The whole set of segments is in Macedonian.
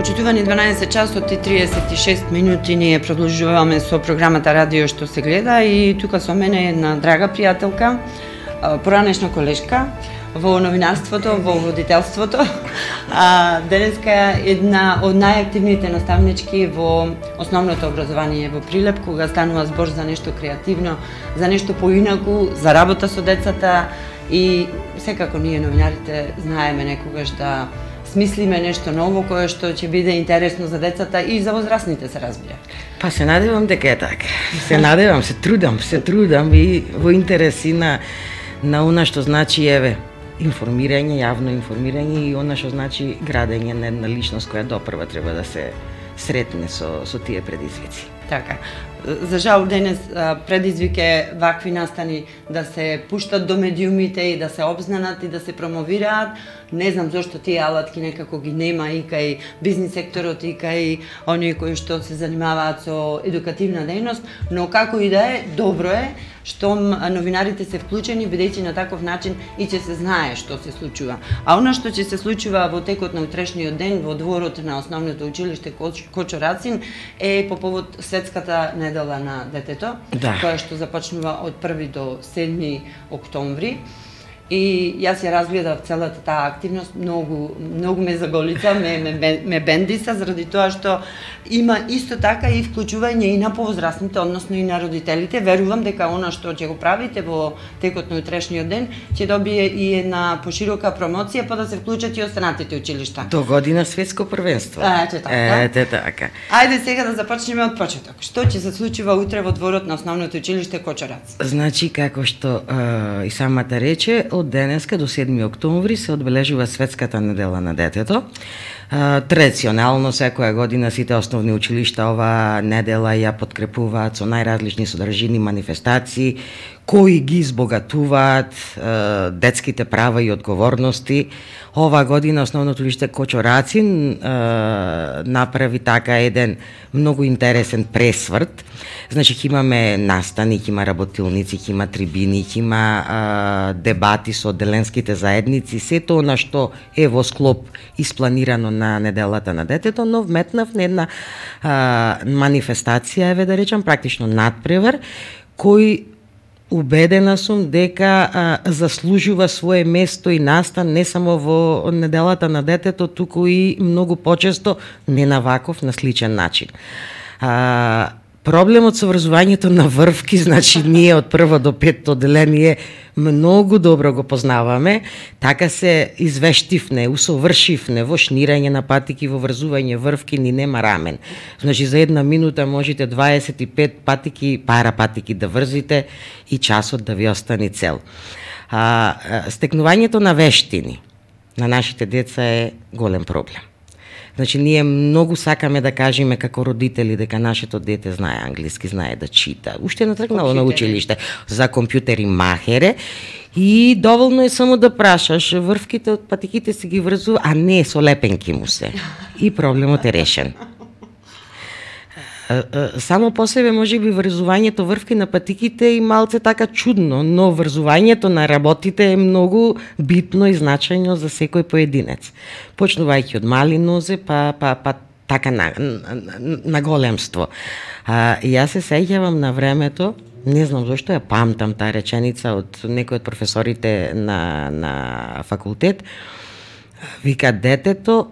Почитувани 12 часот и 36 минути ние продолжуваме со програмата Радио што се гледа и тука со мене е една драга пријателка, поранешна колешка во новинарството, во водителството. Денеска е една од најактивните наставнички во основното образование во Прилеп, кога станува збор за нешто креативно, за нешто поинаку, за работа со децата и секако ние новинарите знаеме некогаш да смислиме нешто ново кое што ќе биде интересно за децата и за возрастните, се разбира. Па се надевам дека е така. Се надевам, се трудам и во интереси на она што значи информирање, јавно информирање и она што значи градење на една личност која допрва треба да се сретне со тие предизвици. Така. За жал денес предизвик е вакви настани да се пуштат до медиумите и да се обзнанат и да се промовираат. Не знам зошто тие алатки некако ги нема и кај бизнис секторот и кај оние кои што се занимаваат со едукативна дејност, но како и да е, добро е што новинарите се вклучени, бидејќи на таков начин и ќе се знае што се случува. А она што ќе се случува во текот на утрешниот ден во дворот на основното училиште Кочо Рацин е по повод Светската недела на детето, која што започнува од 1 до 7 октомври. И јас ја разгледав целата таа активност, многу ме заголица, ме бендиса, заради тоа што има исто така и вклучување и на повозрастните, односно и на родителите. Верувам дека она што ќе го правите во текот на утрешниот ден ќе добие и една поширока промоција, па да се вклучат и останатите училишта. До година светско првенство. Ете така. Ајде сега да започнеме од почеток. Што ќе се случува утре во дворот на основното училиште Кочо Рацин? Значи, како што и самата рече, од денеска до 7 октомври се одбележува Светската недела на детето. Традиционално секоја година сите основни училишта оваа недела ја подкрепуваат со најразлични содржини манифестации кои ги збогатуваат детските права и одговорности. Ова година основното училиште Кочо Рацин направи така еден многу интересен пресврт. Значи, имаме настани, има работилници, има трибини, има дебати со одделенските заедници, сето она што е во склоп испланирано на неделата на детето, но вметнав на една манифестација, да речам, практично надпревар, кој убедена сум дека заслужува свое место и настан не само во неделата на детето, туку и многу почесто не на ваков, на сличен начин. Проблемот со врзувањето на врвки, значи ние од 1 до 5 одделение многу добро го познаваме, така се извештивне, усовршивне во шнирање на патики, во врзување врвки, ни нема рамен. Значи за една минута можете 25 патики, пара патики да врзите и часот да ви остане цел. Стекнувањето на вештини на нашите деца е голем проблем. Значи, ние многу сакаме да кажеме како родители дека нашето дете знае англиски, знае да чита. Уште не тргнало на училиште за компјутери махере и доволно е само да прашаш, врвките од патиките се ги врзува, а не со лепенки му се. И проблемот е решен. Само по себе може би врзувањето врвки на патиките е малце така чудно, но врзувањето на работите е многу битно и значајно за секој поединец. Почнувајќи од мали нозе, па така на големство. Јас се сеќавам на времето, не знам зашто ја памтам таа реченица од некој од професорите на факултет, вика детето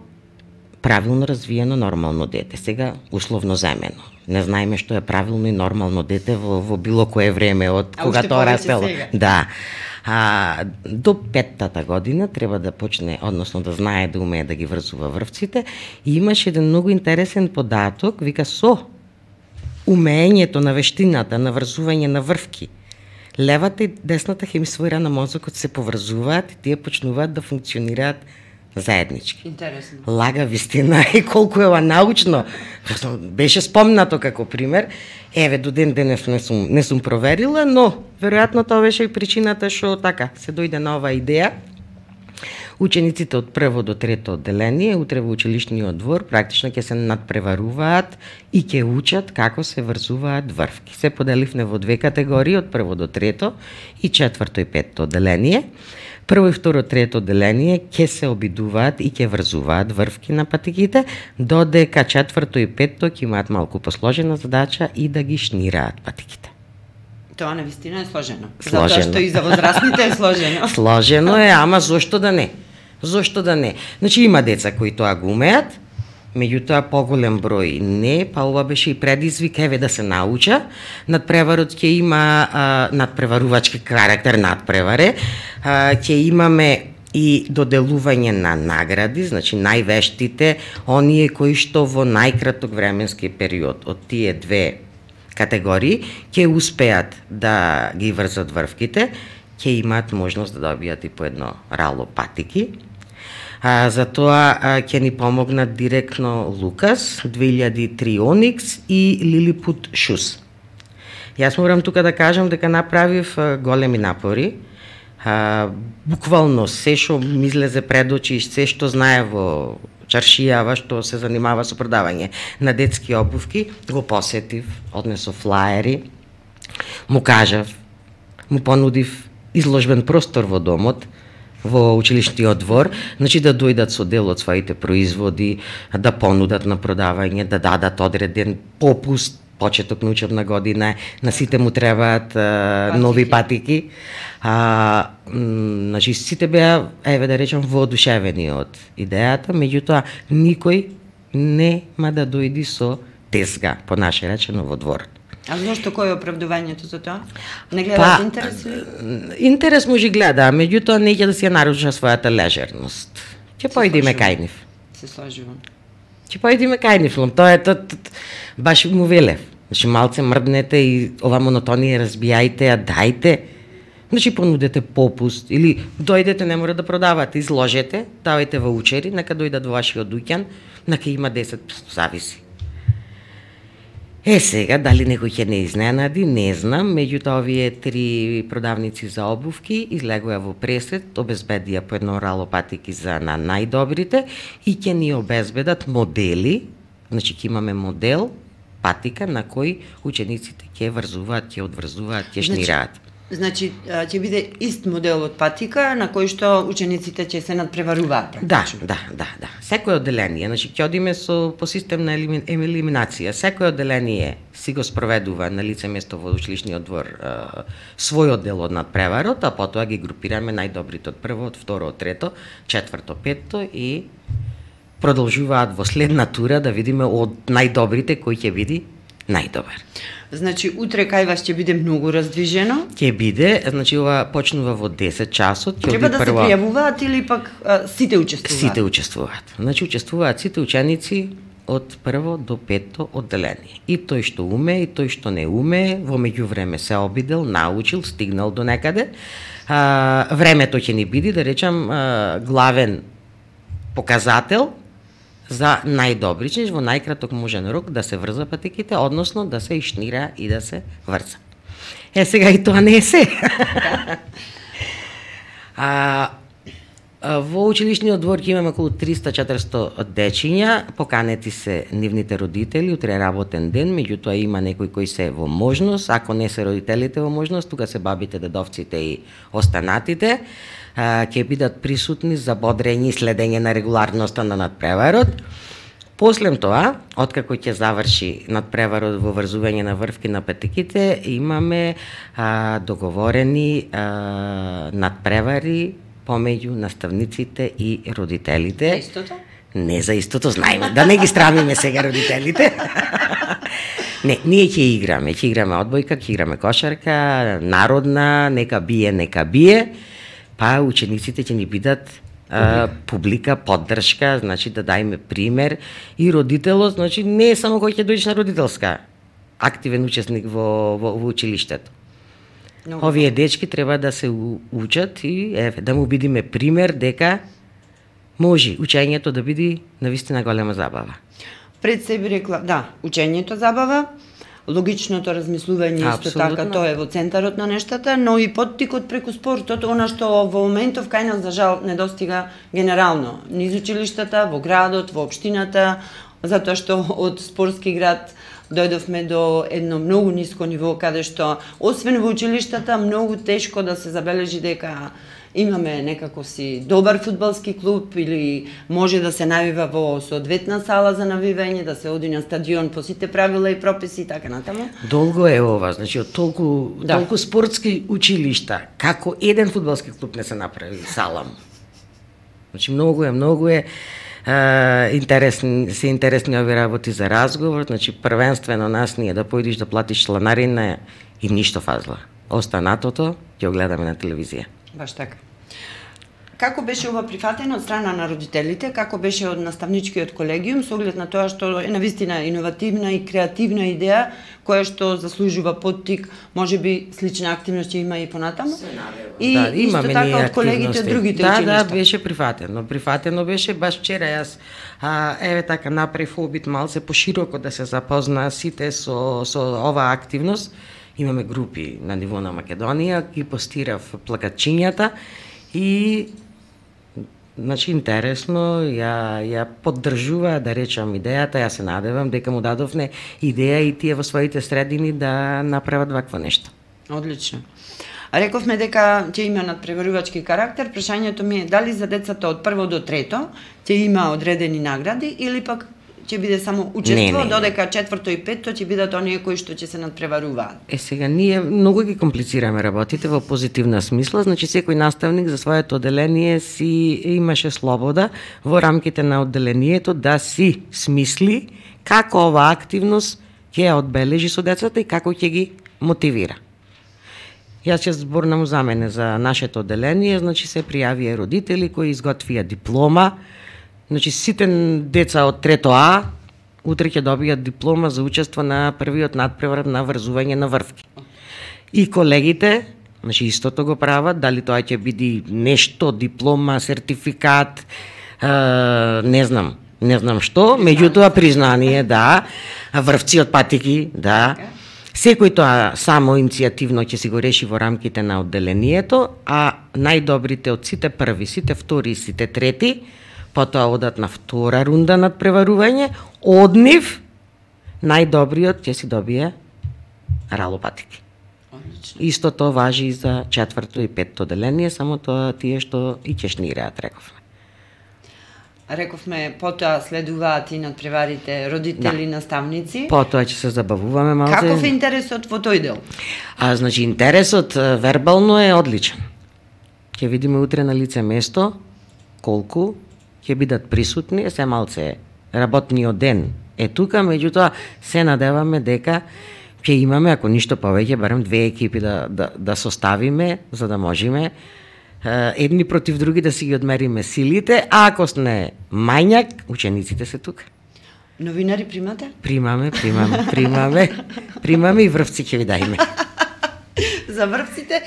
правилно развиено нормално дете. Сега условно земено. Не знаеме што е правилно и нормално дете во било кое време од кога тоа растело. Да. До 5-та година треба да почне, односно да знае да умее да ги врзува врвците. И имаше еден многу интересен податок, вика со умењето на вештината на врзување на врвки, левата и десната хемисфера на мозокот се поврзуваат и тие почнуваат да функционираат заеднички. Интересно. Лага вистина и колку е научно. Беше спомнато како пример. Еве, до ден денес не сум проверила, но веројатно тоа беше и причината што така се дојде на оваа идеја. Учениците од 1 до 3 одделение утре во училишниот двор практично ќе се надпреваруваат и ќе учат како се врзуваат врвки. Се поделивме во две категории, од 1 до 3 и 4 и 5 одделение. Прво и второ, трето одделение ќе се обидуваат и ќе врзуваат врвки на патиките, додека четврто и петто ќе имаат малку посложена задача и да ги шнираат патиките. Тоа навистина е сложено. Сложено. Затоа што и за возрастните е сложено. Сложено е, ама зошто да не? Зошто да не? Значи има деца кои тоа го умеат, меѓутоа поголем број не, па ова беше и предизвик, еве да се науча. Надпреварот ќе има надпреварувачки карактер, надпреваре, ќе имаме и доделување на награди, значи највештите, оние кои што во најкраток временски период од тие две категории ќе успеат да ги врзат врвките, ќе имаат можност да добијат и по едно рало патики. За тоа ќе ни помогнат директно Лукас, 2003 Оникс и Лилипут Шус. Јас морам тука да кажам дека направив големи напори. Буквално се што ми излезе пред очи, се што знае во чаршијава, што се занимава со продавање на детски обувки, го посетив, однесов флаери, му кажав, му понудив изложбен простор во домот, во училишниот двор, значи да дојдат со дел од своите производи, да понудат на продавање, да дадат одреден попуст, почеток на учебна година, на сите му требаат нови патики. Значи сите беа, еве да речем, воодушевени од идејата, меѓутоа никој нема да дојди со тезга, по наше речено, во дворот. А зошто кој е оправдувањето за тоа? Не гледат интерес или? Интерес може гледа, меѓутоа не ќе да си ја наруши својата лежерност. Ќе појдеме кај нив. Се сложувам. Ќе појдеме кај нив, тоа е баш му велев. Значи малце мрднете и ова монотонија разбијајте, ја дајте. Значи понудете попуст или дојдете, не мора да продавате, изложете, давајте ваучери, нека дојдат во вашиот дуќан, нека има 10, зависи. Сега, дали некој ќе не изненади, не знам, меѓутоа овие три продавници за обувки излегоа во пресет, обезбедија по едно рало патики за на најдобрите и ќе ни обезбедат модели, значи ќе имаме модел, патика на кој учениците ќе врзуваат, ќе одврзуваат, ќе шнираат. Значи, ќе биде ист модел од патика на кој што учениците ќе се надпреваруваат. Да. Секој одделение, значи ќе одиме по систем на елиминација. Секој одделение си го спроведува на лице место во училишниот двор својот дел од надпреварот, а потоа ги групираме најдобрите од прво, од второ, од трето, четврто, петто и продолжуваат во следна тура да видиме од најдобрите кој ќе биде најдобар. Значи, утре кај вас ќе биде многу раздвижено? Ќе биде, значи ова почнува во 10 часот. Треба да се пријавуваат или пак сите учествуваат? Сите учествуваат. Значи, учествуваат сите ученици од прво до петто одделение. И тој што уме, и тој што не уме, во меѓувреме се обидел, научил, стигнал до некаде. Времето ќе ни биде, да речам, главен показател за најдобри, че во најкраток можен рок да се врза патиките, односно да се ишнира и да се врза. Сега и тоа не е се. Во училишниот двор ќе имаме околу 300-400 дечиња, поканети се нивните родители, утре е работен ден, меѓутоа има некои кои се во можност, ако не се родителите во можност, тука се бабите, дедовците и останатите, ќе бидат присутни за бодрење и следење на регуларноста на надпреварот. После тоа, откако ќе заврши надпреварот во врзување на врвки на патиките, имаме договорени надпревари помеѓу наставниците и родителите. За истото? Не за истото, знаеме, да не ги страмиме сега родителите. Не, ние ќе играме одбојка, ќе играме кошарка, народна, нека бие, па учениците ќе ни бидат публика, поддршка, значи да дајме пример и родителот, значи не е само кој ќе дојдеш на родителска, активен учесник во училиштето. Овие дечки треба да се учат и да му бидиме пример дека може учењето да биде навистина голема забава. Пред себе рекла, да, учењето забава, логичното размислување исто така, тоа е во центарот на нештата, но и поттикот преку спортот, она што во моментов кај нас за жал не достига генерално, низ училиштата, во градот, во општината, затоа што од спортски град дојдовме до едно многу ниско ниво, каде што, освен во училиштата, многу тешко да се забележи дека имаме некако си добар фудбалски клуб или може да се навива во соодветна сала за навивање, да се оди на стадион по сите правила и прописи и така натаму. Долго е ова, значи од толку спортски училишта, како еден фудбалски клуб не се направи сала. Значи многу е интересни овие работи за разговор, значи првенствено нас ние да појдиш да платиш чланарина и ништо фазла. Останатото ќе го гледаме на телевизија. Баш така. Како беше ова прифатено од страна на родителите, како беше од наставничкиот колегиум, со оглед на тоа што е навистина иновативна и креативна идеја, која што заслужува поттик, можеби слична активност ќе има и понатаму. И исто така од колегите од другите училишта. Да, беше прифатено. Прифатено беше баш вчера јас еве така направив обид малце пошироко да се запозна сите со оваа активност. Имаме групи на ниво на Македонија, ги постирав плакатчињата и значи интересно ја поддржува, да речам, идејата. Јас се надевам дека му дадовне идеја и тие во своите средини да направат вакво нешто. Одлично. Рековме дека ќе има надпреварувачки карактер. Прашањето ми е дали за децата од прво до трето ќе има одредени награди или пак ќе биде само учество, додека четврто и петто ќе бидат оние кои што ќе се надпреваруваат. Сега ние многу ги комплицираме работите во позитивна смисла, значи секој наставник за своето одделение си имаше слобода во рамките на одделението да си смисли како оваа активност ќе ја одбележи со децата и како ќе ги мотивира. Јас ќе зборнам за мене, за нашето одделение, значи се пријавија родители кои изготвија диплома. Значи сите деца од трето А утре ќе добијат диплома за учество на првиот надпревар на врзување на врвки. И колегите, значи истото го прават, дали тоа ќе биде нешто, диплома, сертификат, не знам што, меѓутоа признание, да, врвци од патики, да. Секој тоа само иницијативно ќе си го реши во рамките на одделението, а најдобрите од сите први, сите втори и сите трети потоа одат на втора рунда надпреварување, од нив најдобриот ќе си добие ралопатики. Истото важи и за четврто и петто одделение, само тоа тие што и чешнираат, рековме. Рековме, потоа следуваат и надпреварите родители, наставници. Потоа ќе се забавуваме малце. Каков е интересот во тој дел? Значи интересот вербално е одличен. Ќе видиме утре на лице место колку ќе бидат присутни, се малце работниот ден е тука, меѓутоа се надеваме дека ќе имаме, ако ништо повеќе, барем две екипи да составиме, за да можеме едни против други да си ги одмериме силите, а ако сме мањак, учениците се тука. Новинари примате? Примаме и врвци ќе ви дајме. За врвците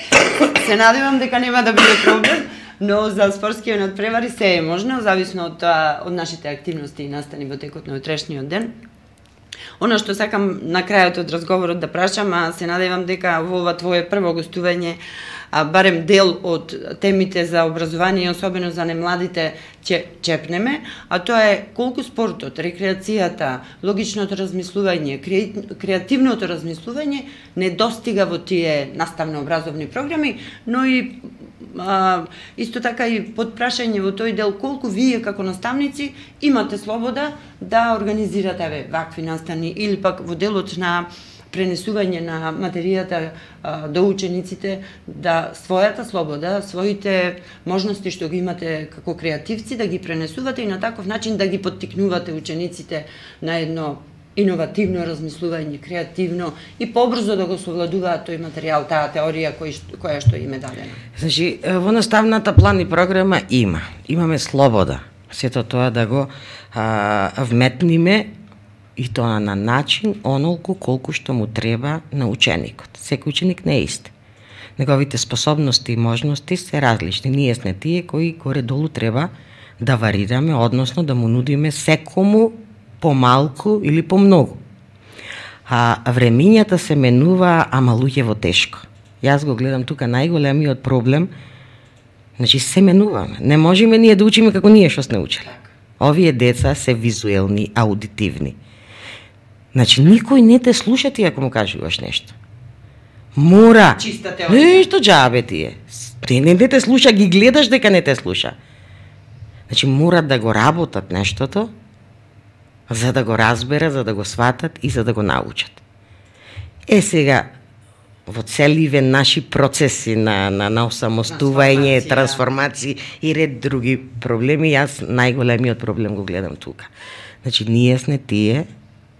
се надевам дека нема да биде проблем, но за спортскиот надпревари се е можно, зависно од нашите активности и настани во текот на утрешниот ден. Она што сакам на крајот од разговорот да прашам, се надевам дека во ова твое прво гостување барем дел од темите за образование, особено за немладите, ќе чепнеме, а тоа е колку спортот, рекреацијата, логичното размислување, креативното размислување не достига во тие наставно-образовни програми, но и исто така и под прашање во тој дел колку вие како наставници имате слобода да организирате вакви настани или пак во делот на пренесување на материјата до учениците, да својата слобода, своите можности што ги имате како креативци, да ги пренесувате и на таков начин да ги поттикнувате учениците на едно иновативно размислување, креативно и побрзо да го совладуваат тој материјал, таа теорија која што им е дадена. Значи, во наставната план и програма имаме слобода сето тоа да го вметниме и тоа на начин онолку колку што му треба на ученикот. Секој ученик не е ист. Неговите способности и можности се различни. Ние сме тие кои горе-долу треба да варираме, односно да му нудиме секому помалку или помногу. Времињата се менува, ама луѓево тешко. Јас го гледам тука најголемиот проблем. Значи се менуваме. Не можеме ние да учиме како ние што сме учели. Овие деца се визуелни, аудитивни. Значи, никој не те слуша ти ако му кажуваш нешто. Мора. Чиста теорија. Нешто џабе ти е. Не те слуша, ги гледаш дека не те слуша. Значи, мора да го работат нештото, за да го разберат, за да го сватат и за да го научат. Сега, во целиве наши процеси на осамостување, трансформации и ред други проблеми, јас најголемиот проблем го гледам тука. Значи, ние сме тие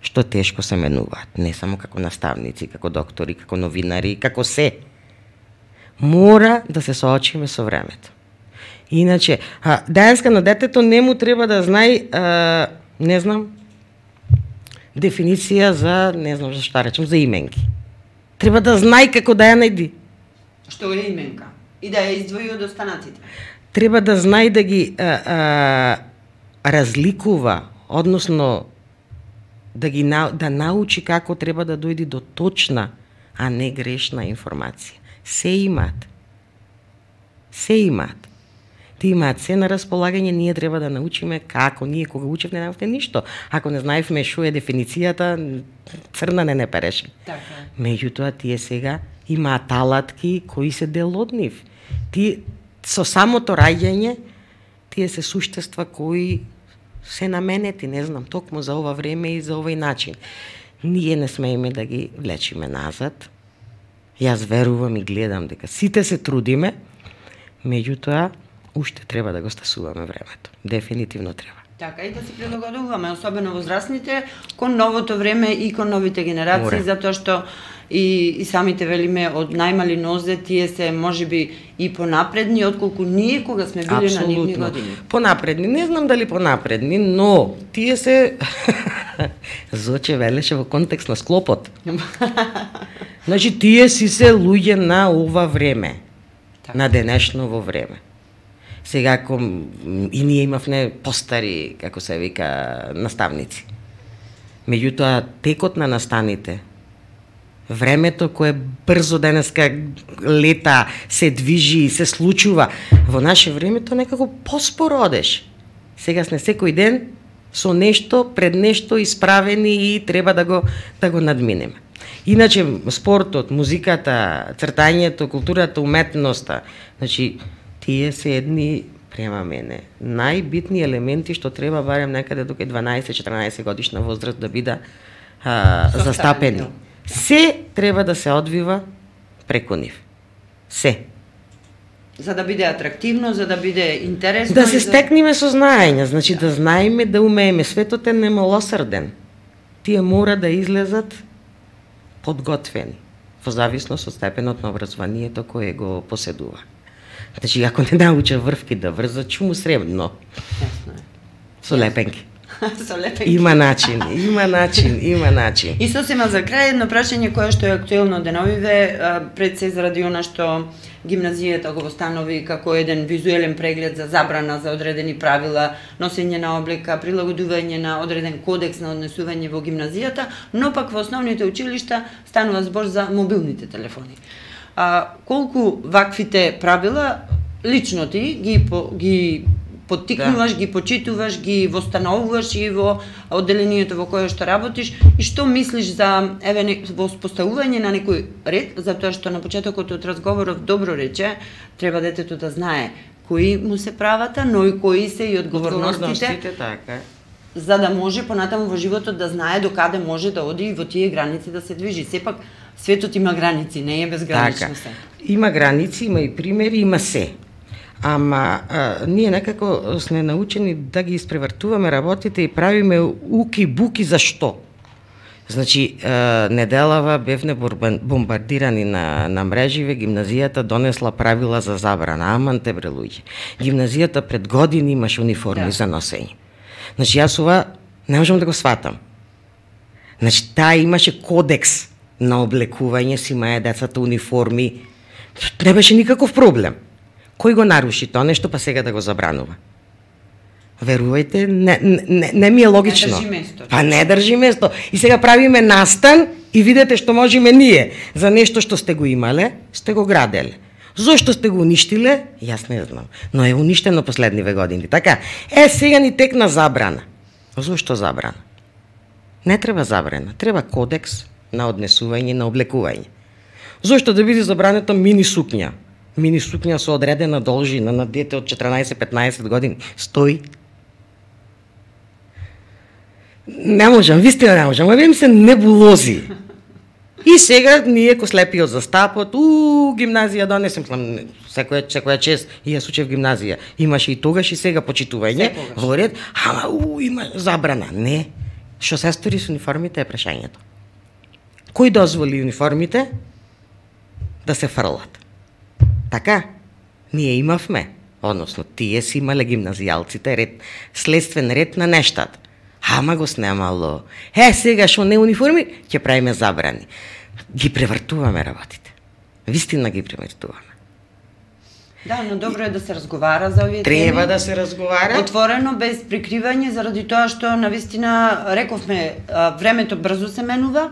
што тешко се менуваат, не само како наставници, како доктори, како новинари, како се. Мора да се соочиме со времето. Иначе, денеска на детето не му треба да знае, не знам, дефиниција за, не знам за што речем, за именки. Треба да знае како да ја најди. Што е именка? И да ја издвои од останатите. Треба да знае да ги разликува, односно да научи како треба да дојде до точна, а не грешна информација. Се имаат. Се имаат. Ти имаат се на располагање, ние треба да научиме како. Ние кога учевме не научевме ништо. Ако не знаевме што е дефиницијата, црна не переше. Така. Меѓутоа тие сега имаат алатки кои се дел од нив. Со самото раѓање, тие се суштества кои се наменети, не знам, токму за ова време и за овој начин. Ние не смееме да ги влечиме назад. Јас верувам и гледам дека сите се трудиме, меѓутоа уште треба да го стасуваме времето. Дефинитивно треба. Така, и да се прилагодуваме, особено возрастните, кон новото време и кон новите генерации, затоа што и самите велиме од најмали нозе, тие се можеби и понапредни, отколку ние кога сме били на нивни години. Понапредни, не знам дали понапредни, но тие се Зоче велеше во контекст на склопот. Значи, тие си се луѓе на ова време, на денешново време. Сега, и ние имавме постари, како се вика, наставници. Меѓутоа, текот на настаните, времето кое брзо денеска лета, се движи, се случува, во наше времето некако поспоро одеш. Сега сме секој ден со нешто, пред нешто исправени и треба да го надминеме. Иначе, спортот, музиката, цртањето, културата, уметноста, значи, тие се едни, према мене, најбитни елементи што треба барем некаде до 12-14 годишна возраст да биде застапени. Се треба да се одвива преку нив. Се. За да биде атрактивно, за да биде интересно. Да се стекнеме со знаење, значи да знаеме, да умееме. Светот е немилосрден. Тие мора да излезат подготвени, во зависност од степенот на образованието кое го поседува. Значи, ако не науча врвки да врзат, чу му сребно. Со лепенки. Со лепенки. Има начин. И сосема за крај едно прашање кое што е актуелно деновиве, пред се заради она што гимназијата го постанови како еден визуелен преглед за забрана за одредени правила, носење на облека, прилагодување на одреден кодекс на однесување во гимназијата, но пак во основните училишта станува збор за мобилните телефони. Колку ваквите правила лично ти ги поттикнуваш, ги почитуваш, ги востановуваш и во одделението во кое што работиш, и што мислиш за во поставување на некој ред, затоа што на почетокот од разговоров добро рече, треба детето да знае кои му се правата, но и кои се и одговорностите, така. За да може понатаму во животот да знае до каде може да оди и во тие граници да се движи. Сепак светот има граници, не е безгранично се. Има граници, има и примери, има се. Ама ние некако сме научени да ги испревртуваме работите и правиме уки-буки за што. Значи, неделава бевне бомбардирани на мреживе, гимназијата донесла правила за забрана. Аман те бре луѓе. Гимназијата пред години имаше униформи за носење. Значи, јас ова не можам да го сватам. Значи, таа имаше кодекс на облекување, си имаја децата униформи. Не беше никаков проблем. Кој го наруши тоа нешто, па сега да го забранува? Верувајте, не ми е логично. Не држи место. Па не држи место. И сега правиме настан и видете што можеме ние. За нешто што сте го имале, сте го граделе. Зошто сте го уништиле? Јас не знам. Но е уништено последниве години. Така, сега ни текна забрана. Зошто забрана? Не треба забрана, треба кодекс на однесување, на облекување. Зошто да биде забрането мини сукња? Мини сукња со одредена должина на дете од 14-15 години стои. Не можам, вистина не можам, аве ми се небулози. И сега ние ко слепиот за стапот, гимназија донесем, секоја чест, и јас учев гимназија. Имаше и тогаш и сега почитување во ред, ама има забрана. Не. Што се стори со униформите е прашањето. Кој дозволи униформите да се фрлат? Така, ние имавме, односно тие си имале гимназијалците ред, следствен ред на нештата. Ама го снемало. Сега што не униформи, ќе правиме забрани. Ги превртуваме работите. Вистина ги превртуваме. Да, но добро е да се разговара за овие теми. Треба да се разговара. Отворено, без прикривање, заради тоа што навистина рековме, времето брзо се менува.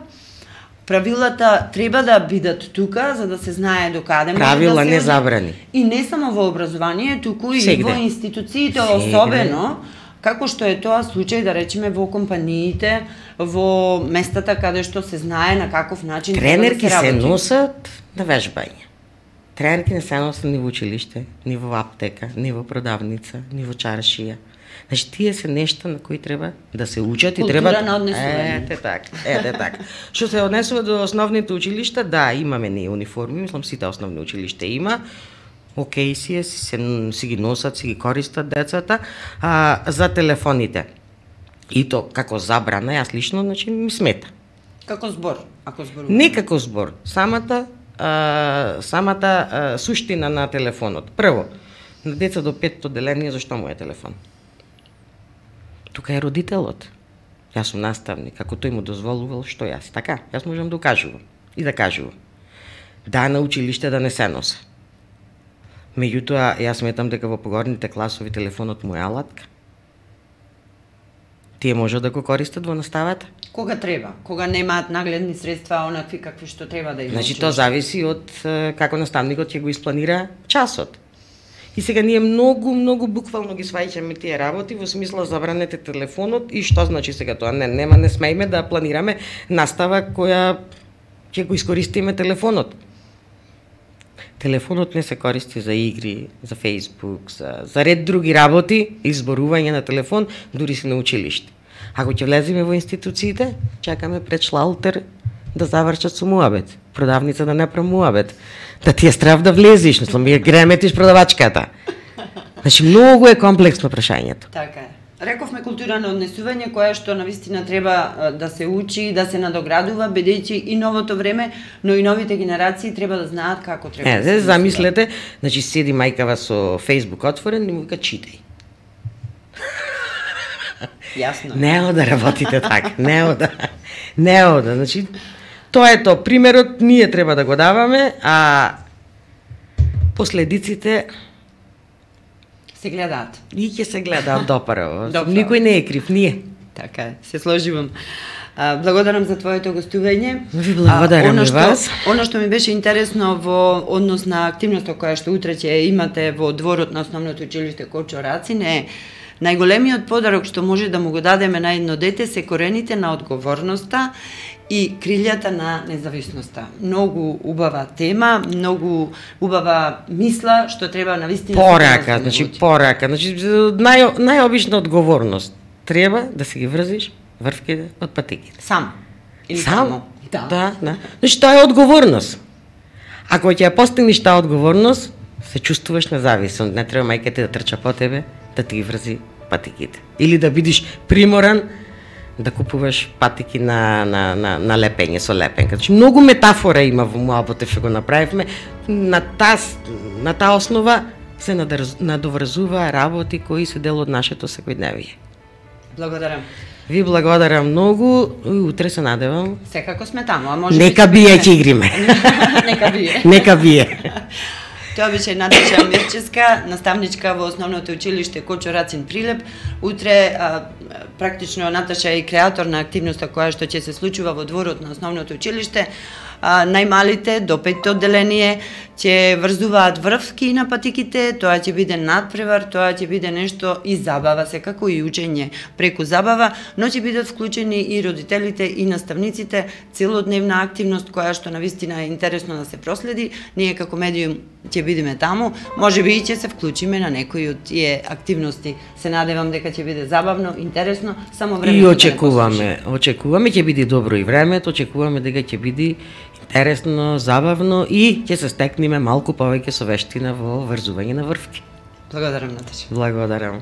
Правилата треба да бидат тука, за да се знае до каде може правила, да се не забрани. И не само во образование, туку и Сегде. во институциите, особено, како што е тоа случај, да речеме, во компаниите, во местата каде што се знае на каков начин тренерки треба да се се работи. носат на вежбање. Тренерки не се носат ни во училиште, ни во аптека, ни во продавница, ни во чаршија. Значи, тие се нешта на кои треба да се учат и треба... Култура на однесување. Ете така. Што се однесува до основните училишта, да, имаме ние униформи, мислам сите основни училишта има. Океј си ги носат, си ги користат децата. За телефоните. И то како забрана, јас лично, значи, ми смета. Како збор, ако зборуваме. Не како збор, самата суштина на телефонот. Прво, на деца до 5 одделение, зашто му е телефон? Тука е родителот. Јас сум наставник, ако тој му дозволувал, што јас? Така, јас можам да укажувам и да кажувам. Да, на училиште да не се носе. Меѓутоа, јас сметам дека во погорните класови телефонот му е алатка. Тие можат да го користат во наставата. Кога треба, кога немаат нагледни средства, онакви какви што треба да имаат. Значи, тоа зависи од како наставникот ќе го испланира часот. И сега ние многу буквално ги сваќаме тие работи во смисла забранете телефонот и што значи сега тоа? Не смееме да планираме настава која ќе го искористиме телефонот. Телефонот не се користи за игри, за Facebook, за ред други работи, изборување на телефон, дури си на училиште. Ако ќе влеземе во институциите, чакаме пред шлалтер да завршат со муабет, продавница да не прави муабет, да ти е страв да влезеш, мислам, ја греметиш продавачката. Значи, многу е комплексно прашањето. Така е. Рековме култура на однесување, која што навистина треба да се учи, да се надоградува, бидејќи и новото време, но и новите генерации треба да знаат како треба да се замислете, значи седи мајкава со Facebook отворен и му вика читај. Јасно. Не ода работите така, не ода, значи тоа е тоа, примерот ние треба да го даваме, а последиците се гледаат. И ќе се гледаат допараво. Никој не е крив, ние. Така е, се сложивам. Благодарам за твоето гостување. Ви благодарам и вас. Оно што ми беше интересно во однос на активноста која што утре ќе имате во дворот на основното училиште Кочо Рацин е најголемиот подарок што може да му го дадеме на едно дете се корените на одговорноста и крилјата на независноста. Многу убава тема, многу убава мисла што треба навистина порака, значи најобична одговорност. Треба да се ги врзиш врвките од патиките. Сам. Или Сам? само. Да. Значи тоа е одговорност. Ако ќе ја постигнеш таа одговорност, се чувствуваш независен. Не треба мајката да трча по тебе, да ти ги врзи патиките. Или да бидеш приморан да купуваш патики на лепење со лепенка. Значи, многу метафора има во муабот што го направивме. На таа основа се надоврзува работи кои се дел од нашето секојдневие. Благодарам. Ви благодарам многу. Утре се надевам. Секако сме таму, а може Нека бие ќе игриме. Нека бие. Тоа беше Наташа Мирчевска, наставничка во основното училиште Кочо Рацин Прилеп. Утре практично Наташа е и креатор на активноста која што ќе се случува во дворот на основното училиште. најмалите до 5-то одделение ќе врзуваат врвки на патиките, тоа ќе биде надпревар, тоа ќе биде нешто и забава, секако и учење преку забава, но ќе бидат вклучени и родителите и наставниците, целодневна активност која што навистина е интересно да се проследи. Ние како медиум ќе бидеме таму, можеби и ќе се вклучиме на некои од тие активности. Се надевам дека ќе биде забавно, интересно, само време. И очекуваме ќе биде добро и времето, очекуваме дека ќе биде интересно, забавно и ќе се стекнеме малку повеќе со вештина во врзување на врвки. Благодарам, Наташа. Благодарам.